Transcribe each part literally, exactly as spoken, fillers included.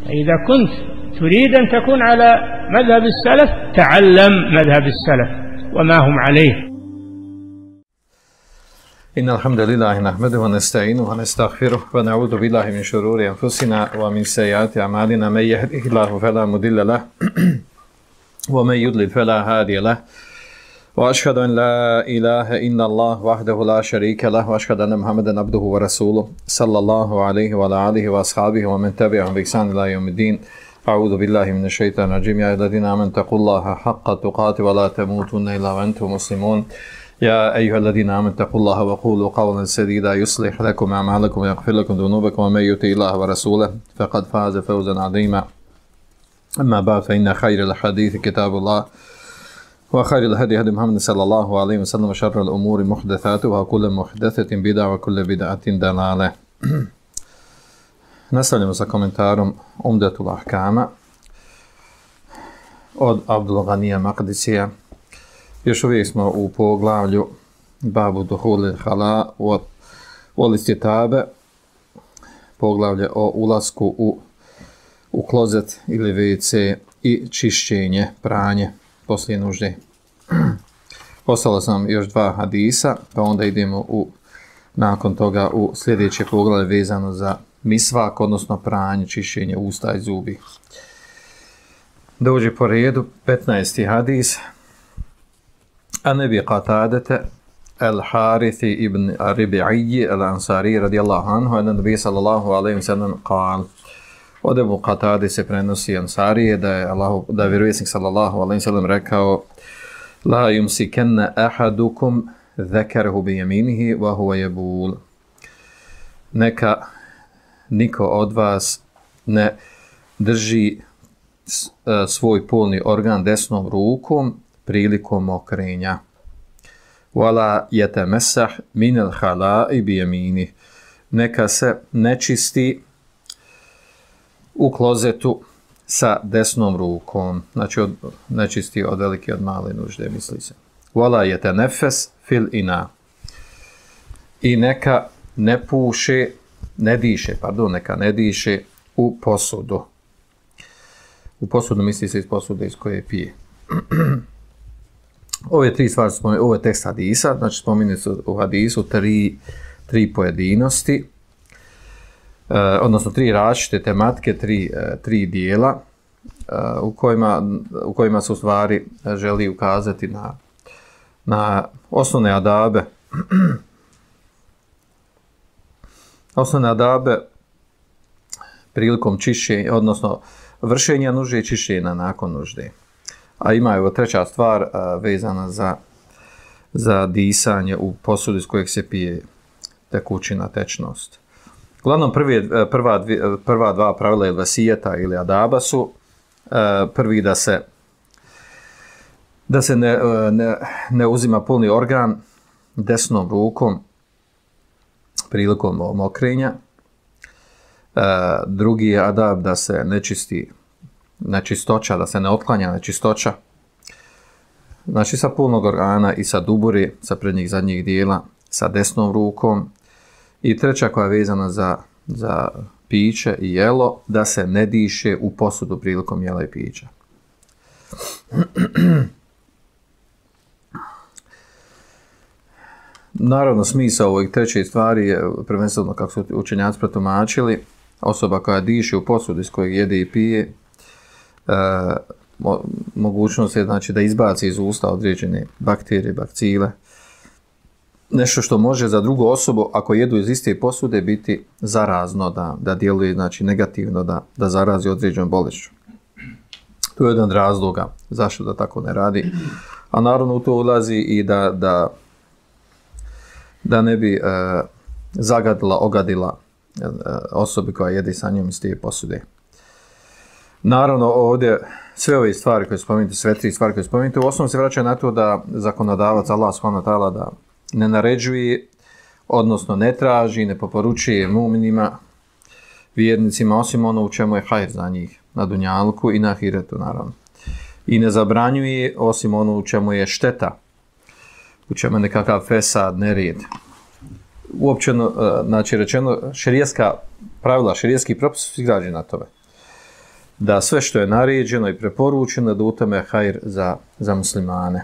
فإذا كنت تريد أن تكون على مذهب السلف تعلم مذهب السلف وما هم عليه. إن الحمد لله نحمده ونستعينه ونستغفره ونعوذ بالله من شرور أنفسنا ومن سيئات أعمالنا من يهده الله فلا مضل له ومن يضلل فلا هادي له وأشهد أن لا إله إلا الله وحده لا شريك له وأشهد أن محمدا عبده ورسوله صلى الله عليه وعلى آله وأصحابه ومن تبعهم بإحسان إلى يوم الدين. أعوذ بالله من الشيطان الرجيم. يا الذين آمنوا اتقوا الله حق تقاته ولا تموتن إلا وأنتم مسلمون. يا أيها الذين آمنوا اتقوا الله وقولوا قولا سديدا يصلح لكم أعمالكم ويغفر لكم ذنوبكم ومن يطع الله ورسوله فقد فاز فوزا عظيما. أما بعد فإن خير الحديث كتاب الله وخير الهدي هدي محمد صلى الله عليه وسلم وشر الأمور محدثاتها وكل محدثة بدعة وكل بدعة ضلالة. Nastavljamo sa komentarom Umdatul Ahkama od Abdul Ghanija Maqdisija. Još uvijek smo u poglavlju Babu Duhulil Hala wal Istitabe, poglavlje o ulasku u, u klozet ili ve ce i čišćenje, pranje poslije nužde. Ostalo sam još dva hadisa, pa onda idemo u, nakon toga u sljedeće poglavlje vezano za misvak, odnosno pranje, čišćenje usta i zubi. Dođe po redu petnaesti hadis. An Abi Qatadata al-Harithi ibn Rabi'i al-Ansari radijallahu anhu anna Nabi sallallahu alejhi ve sellem قال: Od Ebu Qatade se prenosi Ansarije da je Allah, da je vjerovjesnik sallallahu alejhi ve sellem rekao: La yumsikanna ahadukum dhakarahu bi yaminihi wa huwa yabul. Neka niko od vas ne drži svoj polni organ desnom rukom prilikom mokrenja. Wala yatamessah min al-khala'i bi yaminihi. Neka se ne čisti u klozetu sa desnom rukom, znači od, nečisti od velike od male nužde, misli se. Wala yatanafas fil ina. I neka ne puše, ne diše, pardon, neka ne diše u posudu. U posudu misli se iz posude iz koje pije. Ove tri stvari su spomenuti, ovo je tekst hadisa, znači spomenuti su u hadisu tri, tri pojedinosti, Uh, odnosno tri različite tematike, tri, uh, tri dijela uh, u, kojima, u kojima se u stvari želi ukazati na, na osnovne adabe osnovne adabe prilikom čišćenja, odnosno vršenja nužde i čišćenja nakon nužde. A ima evo treća stvar uh, vezana za, za disanje u posudi iz kojeg se pije tekućina, tečnost. Uglavnom, prvi, prva, prva dva pravila ili vasijeta ili adaba su prvi da se, da se ne, ne, ne uzima polni organ desnom rukom prilikom mokrenja. Drugi je adab da se ne čisti nečistoća, da se ne otklanja nečistoća. Znači sa polnog organa i sa duburi, sa prednjih zadnjih dijela, sa desnom rukom. I treća koja je vezana za, za piće i jelo, da se ne diše u posudu prilikom jela i pića. Naravno, smisao ovih treće stvari je prvenstveno, kako su učenjaci protumačili, osoba koja diše u posudu iz kojeg jede i pije, e, mo, mogućnost je znači, da izbaci iz usta određene bakterije, bakcile, nešto što može za drugu osobu, ako jedu iz iste posude, biti zarazno, da, da djeluje znači, negativno, da, da zarazi određenom bolešću. To je jedan razloga zašto da tako ne radi. A naravno u to ulazi i da, da, da ne bi e, zagadila, ogadila e, osobi koja jede sa njom iz te posude. Naravno ovdje sve ove stvari koje spominjete, sve tri stvari koje spominjete, u osnovu se vraća na to da zakonodavac Allah subhanahu wa ta'ala da ne naređuje, odnosno ne traži, ne poporučuje mu'minima, vjernicima, osim ono u čemu je hajr za njih, na dunjalku i na ahiretu, naravno. I ne zabranjuje, osim ono u čemu je šteta, u čemu je nekakav fesad, nered. Uopćeno, znači rečeno, šerijetska pravila, šerijetski propis su izgrađeni na tome. da sve što je naređeno i preporučeno da u tome je hajr za, za muslimane.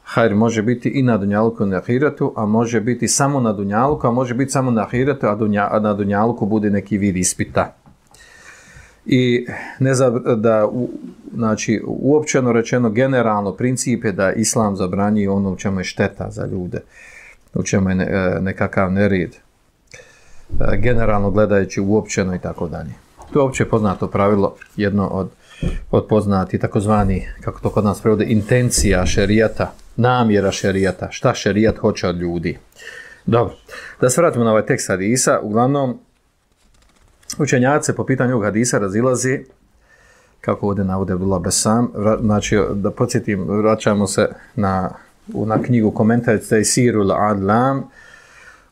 Hajr može biti i na dunjaluku i na ahiretu, a može biti samo na dunjaluku, a može biti samo na ahiretu, a, dunja, a na dunjaluku bude neki vid ispita. I ne za, da, u, znači, uopćeno rečeno, generalno princip je da Islam zabranjuje ono u čemu je šteta za ljude, u čemu je ne, nekakav nered, generalno gledajući uopćeno i tako dalje. To je opće poznato pravilo, jedno od, od poznati takozvani, kako to kod nas prevode, intencija šerijata, namjera šerijata, šta šerijat hoće od ljudi. Dobro, da se vratimo na ovaj tekst hadisa, uglavnom, učenjaci po pitanju ovog hadisa razilazi, kako ovdje navode Abdullah Besam, znači da podsjetim, vraćamo se na, na knjigu komentar Tejsirul Adlam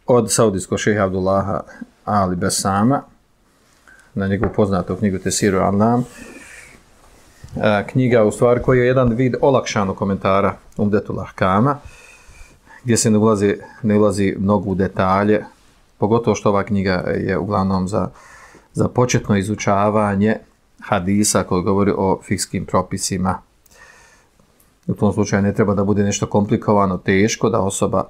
od saudijskog šeha Abdullaha Ali Besama, na njegovu poznatu knjigu Tejsirul Adlam, knjiga u stvari koji je jedan vid olakšanog komentara Umdetul Ahkama, gdje se ne ulazi, ne ulazi mnogo u detalje, pogotovo što ova knjiga je uglavnom za za početno izučavanje hadisa koji govori o fikskim propisima. U tom slučaju ne treba da bude nešto komplikovano, teško, da osoba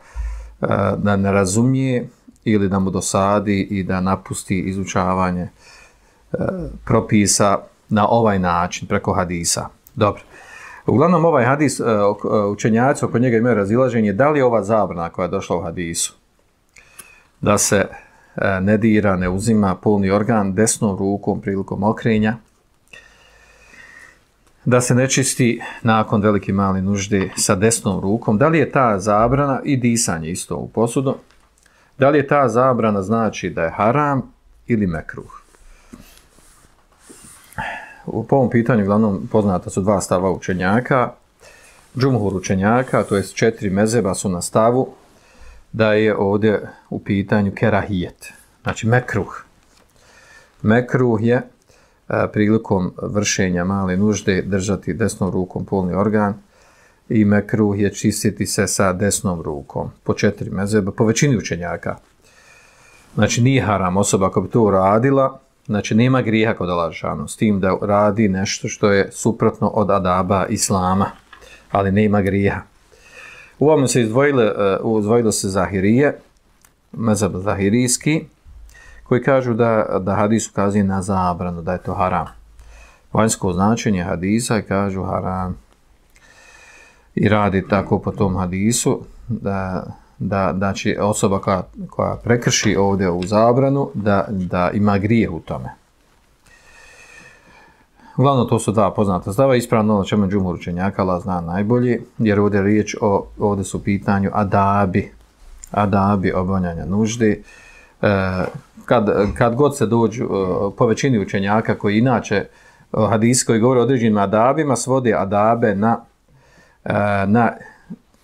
e, da ne razumije ili da mu dosadi i da napusti izučavanje e, propisa na ovaj način, preko hadisa. Dobro. Uglavnom ovaj hadis, e, učenjaci oko njega imaju razilaženje, da li je ova zabrana koja je došla u hadisu, da se ne dira, ne uzima polni organ desnom rukom prilikom okrenja, da se ne čisti nakon velike male nužde sa desnom rukom, da li je ta zabrana i disanje isto u posudu, da li je ta zabrana znači da je haram ili mekruh. U ovom pitanju uglavnom poznata su dva stava učenjaka, džumhur učenjaka, to jest četiri mezheba su na stavu da je ovdje u pitanju kerahijet, znači mekruh. Mekruh je a, prilikom vršenja male nužde držati desnom rukom polni organ i mekruh je čistiti se sa desnom rukom, po četiri mezheba, po većini učenjaka. Znači nije haram osoba ako bi to uradila, znači nema grijeha kod Allaha dželešanu, s tim da radi nešto što je suprotno od adaba islama, ali nema grijeha. U ovom se izdvojile, uh, izdvojilo se Zahirije, mezheb zahirijski, koji kažu da, da hadis ukazuje na zabranu, da je to haram. Vanjsko značenje hadisa i kažu haram. I radi tako po tom hadisu, da, da, da će osoba koja, koja prekrši ovdje u zabranu, da, da ima grijeh u tome. Uglavnom, to su dva poznata stava, ispravno ono čemu džumhur učenjaka, Allah zna najbolji, jer ovdje je riječ o, ovdje su u pitanju adabi, adabi obavljanja nuždi. E, kad, kad god se dođu, po većini učenjaka koji inače hadisi koji govore o određenim adabima, svode adabe na, na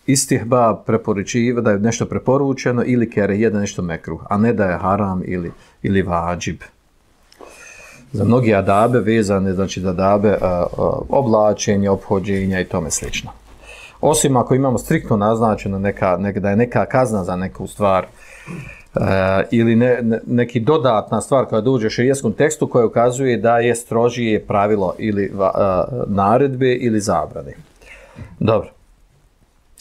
istihba, preporučiva, da je nešto preporučeno ili kerehije, da je nešto mekruh, a ne da je haram ili, ili vađib. Za mnogi adabe vezane, znači za adabe a, a, oblačenja, ophođenja i tome slično. Osim ako imamo striktno naznačeno neka, neka, da je neka kazna za neku stvar a, ili ne, ne, neki dodatna stvar koja dođe u šerijskom tekstu koja ukazuje da je strožije pravilo ili a, naredbe ili zabrane. Dobro.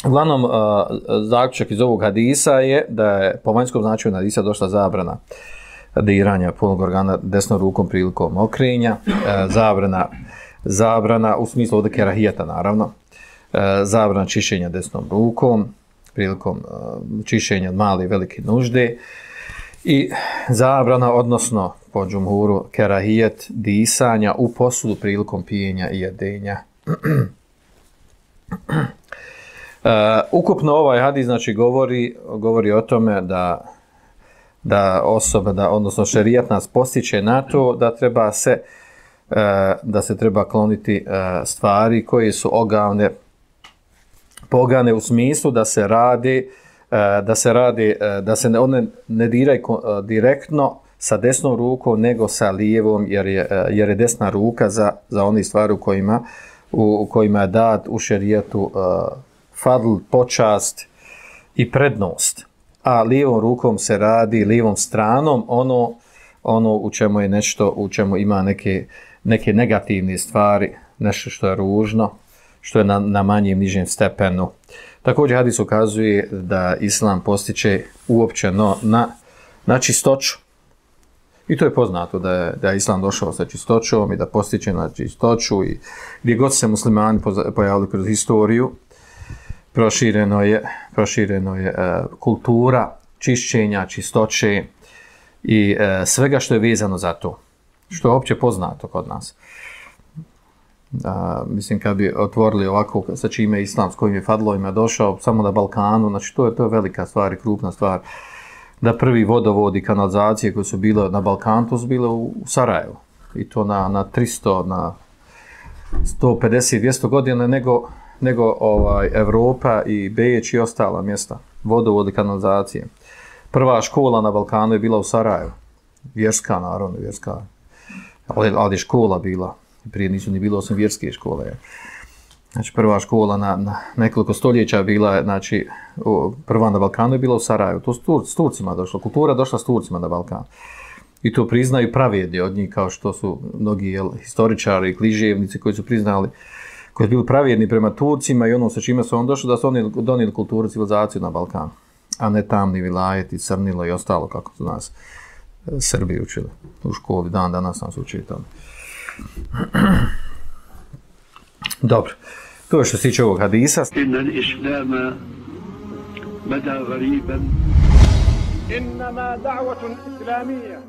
Uglavnom, a, zaključak iz ovog hadisa je da je po vanjskom značenju hadisa došla zabrana diranja polnog organa desnom rukom prilikom okrenja, e, zabrana, zabrana u smislu ovdje kerahijeta naravno, e, zabrana čišćenja desnom rukom prilikom e, čišćenja male i velike nužde i zabrana, odnosno po džumhuru, kerahijet disanja u posudu prilikom pijenja i jedenja. e, ukupno ovaj hadis znači govori, govori o tome da da osoba, da, odnosno šerijat nas postiče na to da treba se, da se treba kloniti stvari koje su ogavne, pogane u smislu da se radi, da se radi, da se ne, one ne diraju direktno sa desnom rukom, nego sa lijevom, jer je, jer je desna ruka za, za one stvari u kojima, u, u kojima je dat u šerijatu fadl, počast i prednost. A lijevom rukom se radi, lijevom stranom, ono, ono u čemu je nešto, u čemu ima neke, neke negativne stvari, nešto što je ružno, što je na, na manjem, nižem stepenu. Također hadis ukazuje da islam postiče uopćeno na, na čistoću. I to je poznato da je, da je islam došao sa čistoćom i da postiče na čistoću i gdje god se muslimani pojavili kroz historiju, prošireno je, prošireno je uh, kultura čišćenja, čistoće i uh, svega što je vezano za to. Što je opće poznato kod nas. Uh, mislim, kad bi otvorili ovako sa čime islam, s kojim je fadlovima došao, samo na Balkanu, znači to je, to je velika stvar i krupna stvar. Da prvi vodovodi, kanalizacije koje su bile na Balkanu, to su bile u, u Sarajevu. I to na, na tristo, na sto pedeset, dvjesto godina nego, nego ovaj, Evropa i Beč i ostala mjesta. Vodovodi, kanalizacije. Prva škola na Balkanu je bila u Sarajevu. Vjerska, naravno, vjerska. Ali, ali je škola bila. Prije nisu ni bilo osim vjerske škole. Znači, prva škola na, na nekoliko stoljeća bila, znači, o, prva na Balkanu je bila u Sarajevu. To s, Tur, s Turcima došlo. Kultura došla s Turcima na Balkan. I to priznaju pravjedi od njih, kao što su mnogi jel, historičari i kliževnici koji su priznali, koji su bili pravjedni prema Turcima i ono sa čime su on došli, da su oni donijeli kulturu, civilizaciju na Balkan. A ne tamni vilajeti, crnilo i ostalo, kako su nas Srbi učili u školi. Dan danas nam su učili tamo. Dobro. To je što se tiče ovog hadisa. Inna l-islama bada gariban. Innama da'watun islamiyya